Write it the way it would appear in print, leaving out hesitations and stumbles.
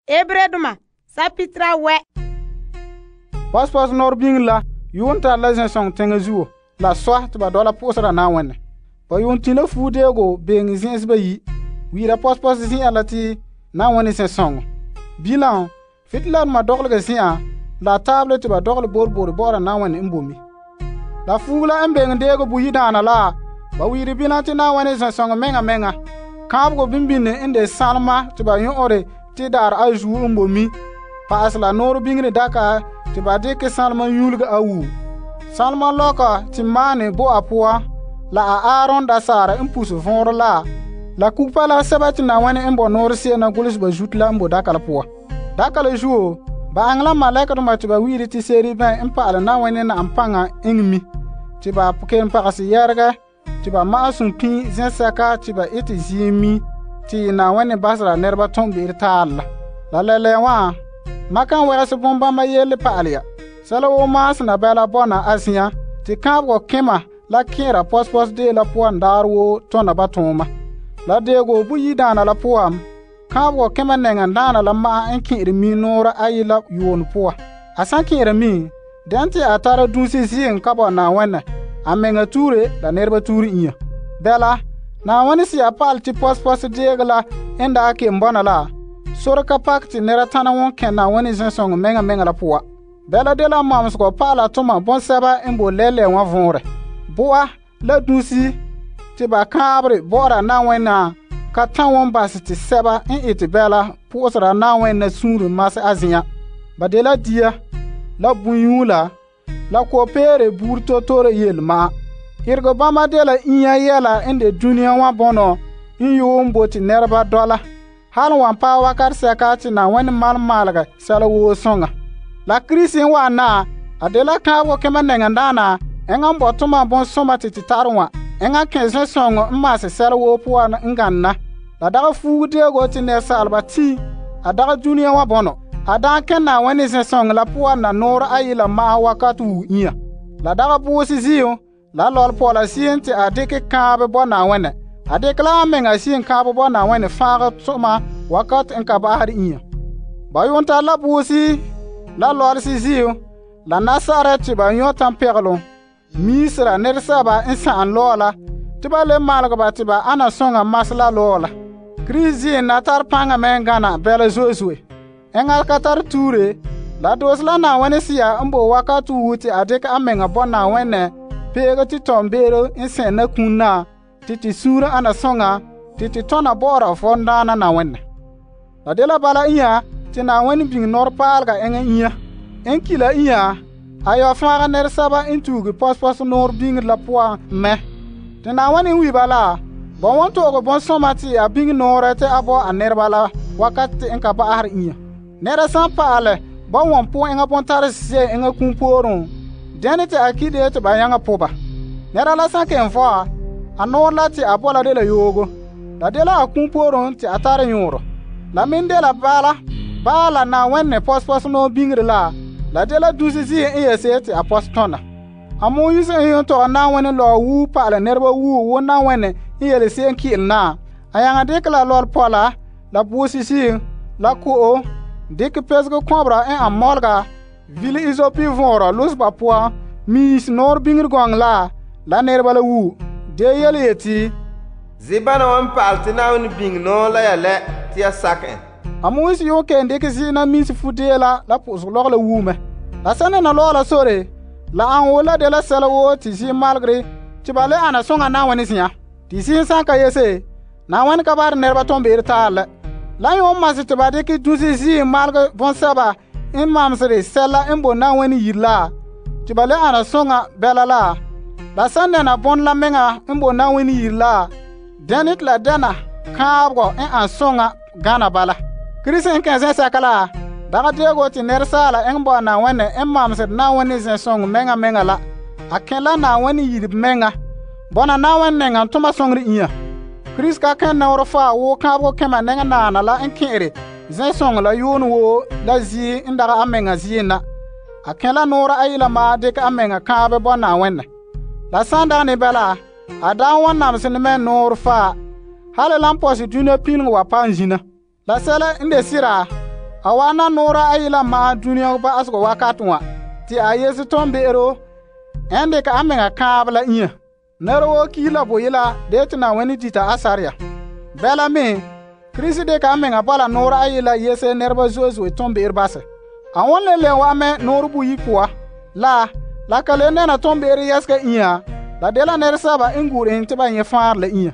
Ebredoma sapitra wɛ. Pɔspɔs nɔɔrɛ biŋe la yuun tare la zɛsɔŋɔ teŋa zuo la sɔ te ba dɔla po'osera Na'ayenɛ. Ba yuun tin la fuudeego beŋe zen'ense bayi', wiira pɔspɔs zen'an la te Na'ayenɛ zɛsɔŋɔ. Bilam, fitiladoma dɔgɔlega zen'an la taabele te ba dɔgɔle boroboro bɔ'ɔra Na'ayenɛ n boe mɛ. La fuugo la n beŋe deego boyidaana la, ba wiiri bilam te Na'ayenɛ zɛsɔŋɔ meŋa meŋa. Kaanbegɔ bimbini n de sanlema te ba nyɔ'ɔre te daarɛ a zuo n boe mi. Pa'asɛ la nɔɔrɛ biŋere daka te ba dekɛ sanlema nyuulega a wuo. Sanlema lɔka te maane bo a poan la a Aaron dasaara n puse vɔnrɛ la kugepala sɛba te Na'ayenɛ n bo nɔɔrɛ se'em na golehɛ ba zuto la n bo daka la poan. Daka la zuo, ba aŋɛ la malɛkadoma te ba wi'iri te seribɛn n pa'alɛ Na'ayenɛ na'am paŋa eŋɛ mi. Te ba kelom pagɛsɛ yɛregɛ te ba ma'asum pin zɛsɛka te ba ete ziim mi te Na'ayenɛ basera nɛreba tom be'ere taarɛ la. La lɛlɛɛ wã, ma kan wɛgɛsɛ bonbãmba yele pa'alɛ ya. Sɛla woo maasena bɛla bɔna a zen'an te kaanbegɔ kema la kẽera pɔspɔs deo la poan daarɛ woo tɔna ba tooma. La deego boyidaana la poan, kaanbegɔ kema nɛŋan daana la ma'an n kẽ'ɛre mi nɔɔrɛ ayi la yuunɛ poan. A san kẽ'ɛra mi, dɛn te a tara dusi ziim ka bɔ Na'ayenɛ, a mɛŋa tuure la nɛreba tuure inya. Bɛla, Na'ayenɛ si'a pa'alɛ te pɔspɔs deego la n daa kelom bɔna la, sore ka pakɛ te nɛra tana won kɛ Na'ayenɛ zɛsɔŋɔ meŋa meŋa la poan. Bɛla de la mamsegɔ pa'ala toma bɔnsɛba n bo lɛlɛ wã vɔnrɛ. Boa la dusi te ba kãabere bɔ'ɔra Na'ayenɛ ka tan won basɛ te sɛba n ete bɛla po'osera Na'ayenɛ suunre masɛ a zen'an. Ba de la dia, la bunyuula, la ko'peere buuri totore yele ma'an. Irego bãmba de la inya yɛla n de dunia wã bɔnɔ n yuun bo te nɛreba dɔla. Hal wan paɛ wakat sɛka te Na'ayenɛ malom maalegɛ sɛla woo soŋa. La Kirisi n wa'an na, a de la kaanbegɔ kema nɛŋan daana eŋa n bɔ toma bonsoma te te tare wã. Eŋa kẽ zɛsɔŋɔ n maasɛ sɛla woo poan n gane na. La dagɛ fuugu deego te nɛresaалba 10 a dagɛ dunia wã bɔnɔ. A daa kẽ Na'ayenɛ zɛsɔŋɔ la poan na nɔɔrɛ ayi la ma'an wakat wuo inya. La dagɛ boose ziim la lɔlepɔla se'em te a dekɛ kãabe bɔ Na'ayenɛ. A dekɛ la a meŋa se'em kãabe bɔ Na'ayenɛ fãagɛ toma wakat n ka ba'asɛ inya. Ba yuun tare la boosi la lɔlesi ziim la nasarɛ te ba yɔ tampɛgelom miisera nɛresɛba n sa'am lɔɔ la te ba le maalege ba te ba ana sõŋa masɛ la lɔɔ la. Kirisi ziim na tare paŋa me n gana bɛla zo'e zo'e. Eŋa ka tare tuure, la doose la Na'ayenɛ si'a n bo wakat wuo te a dekɛ a meŋa bɔ Na'ayenɛ peege te tɔmbeere n sɛn na kum na te te suunre ana sõŋa te te tɔna bɔ'ɔra vɔndaana Na'ayenɛ. La de la bala inya te Na'ayenɛ biŋe nɔrepaalega eŋa inya. En ki la inya, a yɔ fãaga nɛresɛba n tuuge pɔspɔs nɔɔrɛ biŋere la poan mɛ. Te Na'ayenɛ n wi ba la, ba won to'oge bonsɔma te a biŋe nɔɔrɛ te a bɔ a nɛreba la wakat n ka ba'asere inya. Nɛra san pa'alɛ ba wan po eŋa bontarese se'em eŋa kum pooren, dɛne te a ki de te ba nyaŋa po ba. Nɛra la san kelom vɔa, a nɔɔrɛ la te a bɔ la de la yoogo. La de la a kum pooren te a tare yõorɔ. La me de la bala la Na'ayenɛ pɔspɔs nɔɔ biŋere la de la dusi ziim n yɛse te a pɔs tɔna. A Moise n yon tɔgɛ Na'ayenɛ lɔɔ wuu pa'alɛ nɛreba wuu wo Na'ayenɛ n yele se'em ki'ilɛ na. A yaŋa dekɛ la lɔlepɔla, la boosi ziim, la ko'o, dikɛ pɛsege kɔbera n an mɔlega, vile izopi vɔɔrɔ los ba poan, miis nɔɔrɛ biŋere gɔŋɔ la nɛreba la wuu. De yele yeti, zibana wan pa'alɛ te Na'ayenɛ biŋe nɔɔ la ya lɛ te ya sakɛ en. A Moise yon kɛn dikɛ zi'na miisi fudee la pʋʋseg lɔgɔ la wuu mɛ. La sẽn dena lɔɔ la sore, la an woo la de la sɛla woo te ziim malegere te ba le ana sõŋa Na'ayenɛ zen'an. Te ziim san ka yese, Na'ayenɛ ka bahɛ nɛreba tõn be'ere taar lɛ. La yon masɛ te ba dikɛ dusi ziim malegɛ bõnsɛba n mamsere sɛla n bo Na'ayenɛ yire la, te ba le ana sõŋa bɛla la. La sẽn dena bõn la meŋa n bo Na'ayenɛ yire la, dɛne te la dɛna kãabegɔ n an sõŋa gana bala. Kirisi n kẽ zẽsɛka la, dagɛ deego te nɛresaala n bo Na'ayenɛ n mamsed Na'ayenɛ zẽsɔŋɔ meŋa meŋa la. A kẽ la Na'ayenɛ yire meŋa, bɔna Na'ayenɛ nɛŋan toma sõŋre inya. Kirisi ka kẽ nɔɔrɛ faa woo kãabegɔ kẽma nɛŋa naana la n kẽ'ɛre zẽsɔŋɔ la yoone woo la zie n dagɛ a meŋa zie na. A kẽ la nɔɔrɛ ayi la maa dikɛ a meŋa kãabe bɔ Na'ayenɛ. La san dagɛ ne bɛla, a daa wan namsɛ ne mɛ nɔɔrɛ faa, hali la n pɔsɛ dunia pileŋɔ wa paam zina. La sɛla n de sira, A wana noora ayi la ma'an duniya ba'asegɔ wakate wa te a yese toonbe'ero n dekɛ a mɛŋa kaanbɛ la inya. Nɛra woo ki la boyela de yete Na'ayenɛ dita a sarya. Bɛla me, Krista dekɛ a mɛŋa bɔla noora ayi la yese nɛreba zo'e zo'e toonbe'ero basɛ. A wan le lɛm wa mɛ noore boyi poan la ka le nɛna toonbe'ero yɛsega inya, la dela nɛresɛba n gu'ure en te ba nyɛ faanrɛ la inya.